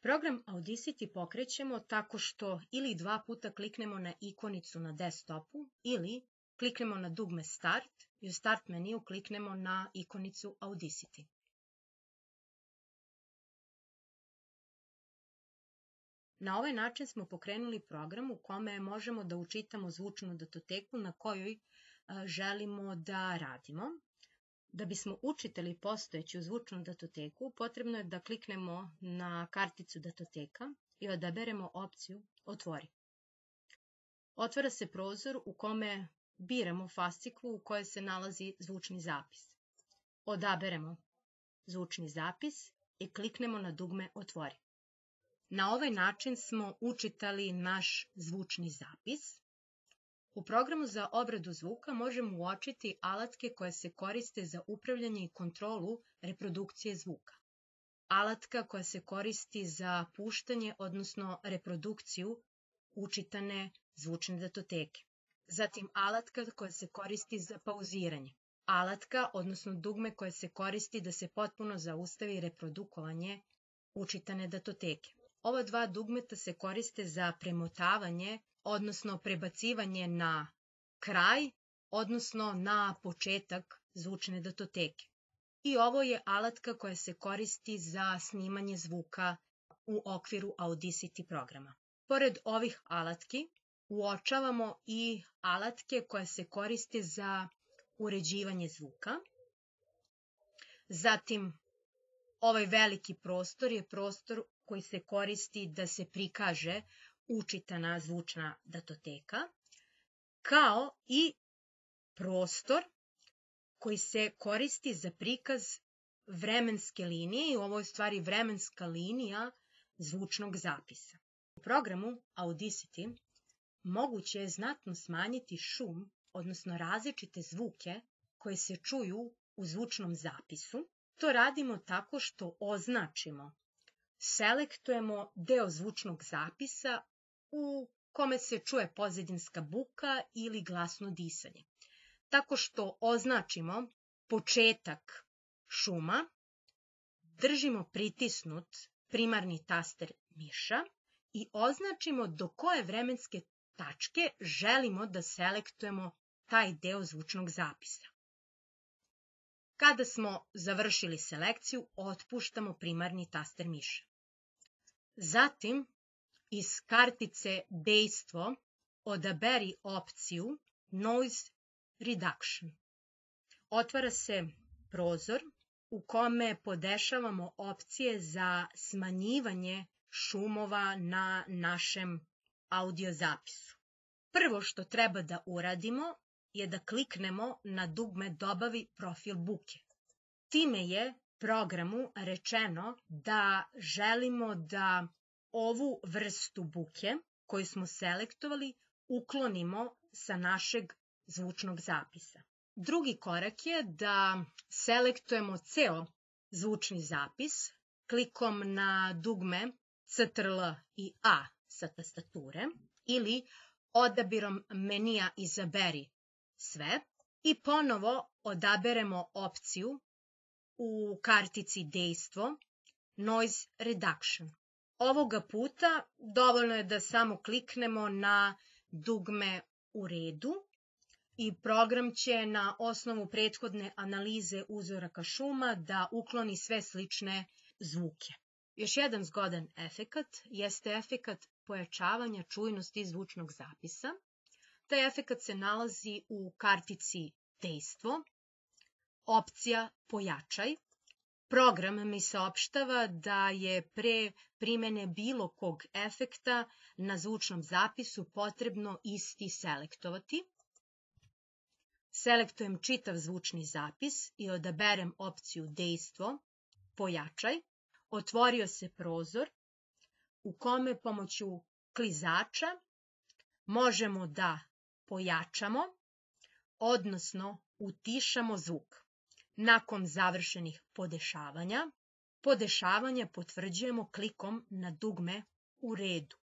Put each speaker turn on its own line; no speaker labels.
Program Audacity pokrećemo tako što ili 2 puta kliknemo na ikonicu na desktopu ili kliknemo na dugme Start i u Start meniju kliknemo na ikonicu Audacity. Na ovaj način smo pokrenuli program u kome možemo da učitamo zvučnu datoteku na kojoj želimo da radimo. Da bismo učitali postojeću zvučnu datoteku, potrebno je da kliknemo na karticu datoteka i odaberemo opciju Otvori. Otvara se prozor u kome biramo fasciklu u kojoj se nalazi zvučni zapis. Odaberemo zvučni zapis i kliknemo na dugme Otvori. Na ovaj način smo učitali naš zvučni zapis. U programu za obradu zvuka možemo uočiti alatke koje se koriste za upravljanje i kontrolu reprodukcije zvuka. Alatka koja se koristi za puštanje, odnosno reprodukciju učitane zvučne datoteke. Zatim alatka koja se koristi za pauziranje. Alatka, odnosno dugme koje se koristi da se potpuno zaustavi reprodukovanje učitane datoteke. Ova 2 dugmeta se koriste za premotavanje, odnosno prebacivanje na kraj, odnosno na početak zvučne datoteke. I ovo je alatka koja se koristi za snimanje zvuka u okviru Audacity programa. Pored ovih alatki, uočavamo i alatke koje se koriste za uređivanje zvuka. Zatim, ovaj veliki prostor je prostor koji se koristi da se prikaže učitana zvučna datoteka, kao i prostor koji se koristi za prikaz vremenske linije i ovo je u stvari vremenska linija zvučnog zapisa. U programu Audacity moguće je znatno smanjiti šum, odnosno različite zvuke koje se čuju u zvučnom zapisu. To radimo tako što označimo, selektujemo deo zvučnog zapisa u kome se čuje pozadinska buka ili glasno disanje. Tako što označimo početak šuma, držimo pritisnut primarni taster miša i označimo do koje vremenske tačke želimo da selektujemo taj deo zvučnog zapisa. Kada smo završili selekciju, otpuštamo primarni taster miša. Zatim, iz kartice Dejstvo odaberi opciju Noise Reduction. Otvara se prozor u kome podešavamo opcije za smanjivanje šumova na našem audio zapisu. Prvo što treba da uradimo je da kliknemo na dugme Dobavi profil buke. Time je programu rečeno da želimo da ovu vrstu buke koju smo selektovali uklonimo sa našeg zvučnog zapisa. Drugi korak je da selektujemo ceo zvučni zapis klikom na dugme Ctrl i A sa tastature ili odabirom menija Izaberi sve i ponovo odaberemo opciju u kartici Dejstvo Noise Reduction. Ovoga puta dovoljno je da samo kliknemo na dugme U redu i program će na osnovu prethodne analize uzoraka šuma da ukloni sve slične zvuke. Još jedan zgodan efekat jeste efekat pojačavanja čujnosti zvučnog zapisa. Taj efekat se nalazi u kartici Dejstvo, opcija Pojačaj. Program mi saopštava da je pre primene bilo kog efekta na zvučnom zapisu potrebno isti selektovati. Selektujem čitav zvučni zapis i odaberem opciju Dejstvo, Pojačaj. Otvorio se prozor u kome pomoću klizača možemo da pojačamo, odnosno utišamo zvuk. Nakon završenih podešavanja potvrđujemo klikom na dugme U redu.